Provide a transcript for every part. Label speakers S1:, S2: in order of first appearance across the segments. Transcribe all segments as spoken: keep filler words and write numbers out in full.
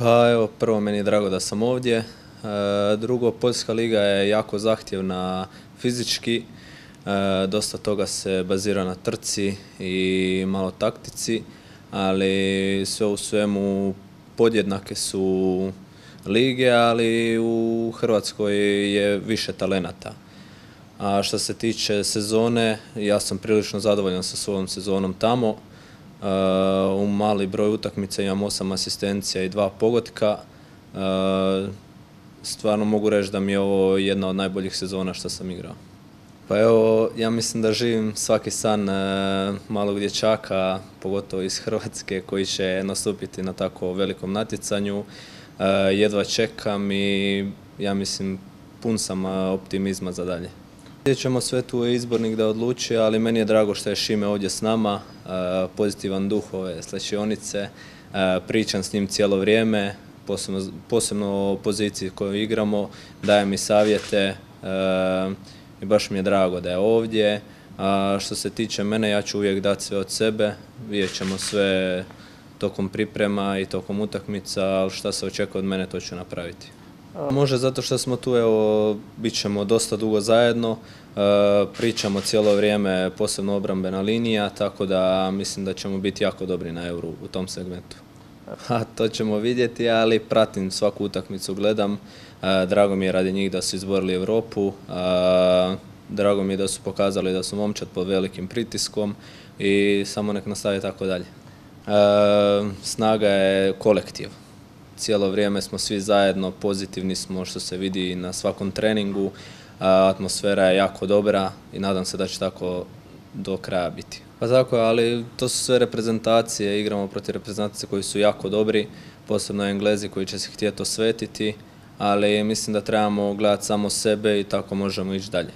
S1: Pa evo, prvo meni je drago da sam ovdje. E, drugo, Poljska liga je jako zahtjevna fizički. E, dosta toga se bazira na trci i malo taktici, ali sve u svemu podjednake su lige, ali u Hrvatskoj je više talenata. A što se tiče sezone, ja sam prilično zadovoljan sa svojom sezonom tamo. U mali broj utakmica imam osam asistencija i dva pogotka. Stvarno mogu reći da mi je ovo jedna od najboljih sezona što sam igrao. Pa evo, ja mislim da živim svaki san malog dječaka, pogotovo iz Hrvatske, koji će nastupiti na tako velikom natjecanju. Jedva čekam i ja mislim pun sam optimizma za dalje. Vidjet ćemo, sve tu je izbornik da odluči, ali meni je drago što je Šime ovdje s nama, pozitivan duh ove slačionice, pričam s njim cijelo vrijeme, posebno, posebno o poziciji koju igramo, daje mi savjete i baš mi je drago da je ovdje. A što se tiče mene, ja ću uvijek dati sve od sebe, vidjet ćemo sve tokom priprema i tokom utakmica, ali šta se očekuje od mene, to ću napraviti. Može zato što smo tu, evo, bit ćemo dosta dugo zajedno, pričamo cijelo vrijeme, posebno obrambena linija, tako da mislim da ćemo biti jako dobri na Euru u tom segmentu. A to ćemo vidjeti, ali pratim svaku utakmicu, gledam. Drago mi je radi njih da su izborili Europu, drago mi je da su pokazali da su momčad pod velikim pritiskom i samo nek nastavi tako dalje. Snaga je kolektiv. Cijelo vrijeme smo svi zajedno, pozitivni smo što se vidi na svakom treningu, atmosfera je jako dobra i nadam se da će tako do kraja biti. Pa tako je, ali to su sve reprezentacije, igramo protiv reprezentacije koji su jako dobri, posebno Englezi koji će se htjeti osvetiti, ali mislim da trebamo gledati samo sebe i tako možemo ići dalje.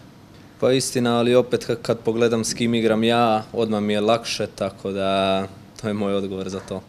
S1: Pa istina, ali opet kad pogledam s kim igram ja, odmah mi je lakše, tako da to je moj odgovor za to.